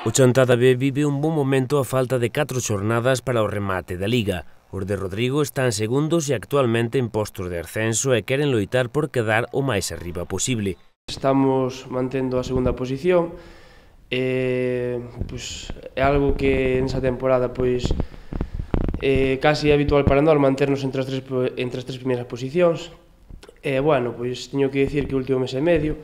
O Chantada B vive un bon momento a falta de 4 xornadas para o remate da Liga. Os de Rodrigo están segundos e actualmente en postos de ascenso e queren loitar por quedar o máis arriba posible. Estamos mantendo a segunda posición, é algo que nesa temporada casi é habitual para nós manternos entre as tres primeiras posicións. Bueno, teño que dicir que o último mes e medio,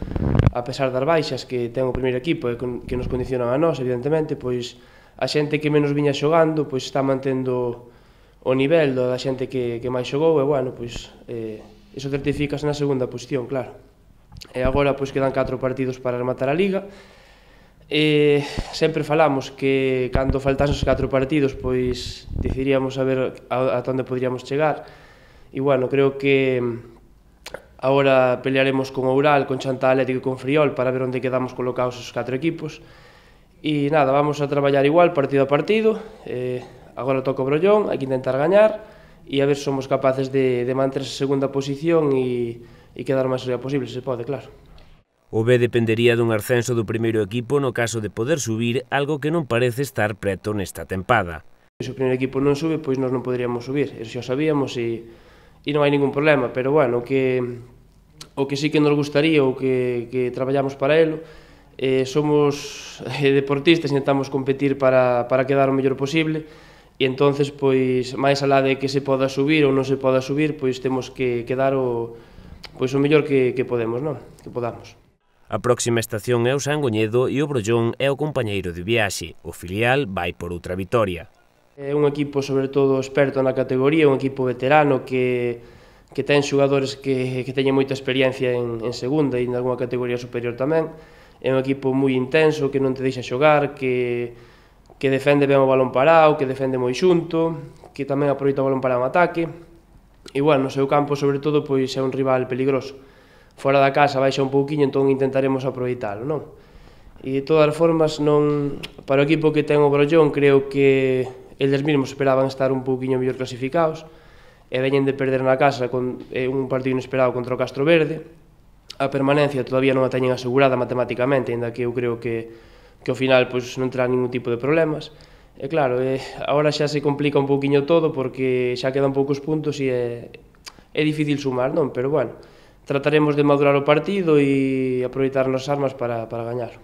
a pesar das baixas que ten o primeiro equipo e que nos condicionan a nós, evidentemente, a xente que menos viña xogando está mantendo o nivel da xente que máis xogou e, bueno, iso certifícase na segunda posición, claro. E agora quedan 4 partidos para rematar a Liga. Sempre falamos que cando faltasen os 4 partidos decidiríamos a ver ata onde poderíamos chegar e, bueno, creo que agora pelearemos con Oural, con Chantada Atlético e con Friol para ver onde quedamos colocados os 4 equipos e nada, vamos a traballar igual partido a partido. Agora toca o Brollón, hai que intentar gañar e a ver se somos capaces de manter esa segunda posición e quedar o máis arriba posible, se pode, claro. O B dependería dun ascenso do primeiro equipo no caso de poder subir, algo que non parece estar preto nesta tempada. Se o primeiro equipo non sube, nós non poderíamos subir, eso xa sabíamos e non hai ningún problema, pero, bueno, o que sí que nos gustaría ou que traballamos para elo, somos deportistas, intentamos competir para quedar o mellor posible e entonces, máis alá de que se poda subir ou non se poda subir, temos que dar o mellor que podemos, non? Que podamos. A próxima estación é o Sangoñedo e o Brollón é o compañeiro de viaxe. O filial vai por outra vitoria. É un equipo, sobre todo, experto na categoría, un equipo veterano que ten xogadores que teñen moita experiencia en segunda e en alguna categoría superior tamén. É un equipo moi intenso, que non te deixa xogar, que defende ben o balón parado, que defende moi xunto, que tamén aproveita o balón parado en ataque. E, bueno, no seu campo, sobre todo, é un rival peligroso. Fora da casa baixa un pouquiño, entón intentaremos aproveitalo, non? E, de todas as formas, para o equipo que ten o Brollón, creo que eles mesmos esperaban estar un pouquiño mellor clasificados e veñen de perder na casa con un partido inesperado contra o Castro Verde. A permanencia todavía non a teñen asegurada matemáticamente, ainda que eu creo que ao final non terá ningún tipo de problemas. E, claro, agora xa se complica un pouquiño todo porque xa quedan poucos puntos e é difícil sumar, non? Pero, bueno, trataremos de madurar o partido e aproveitar as armas para gañar.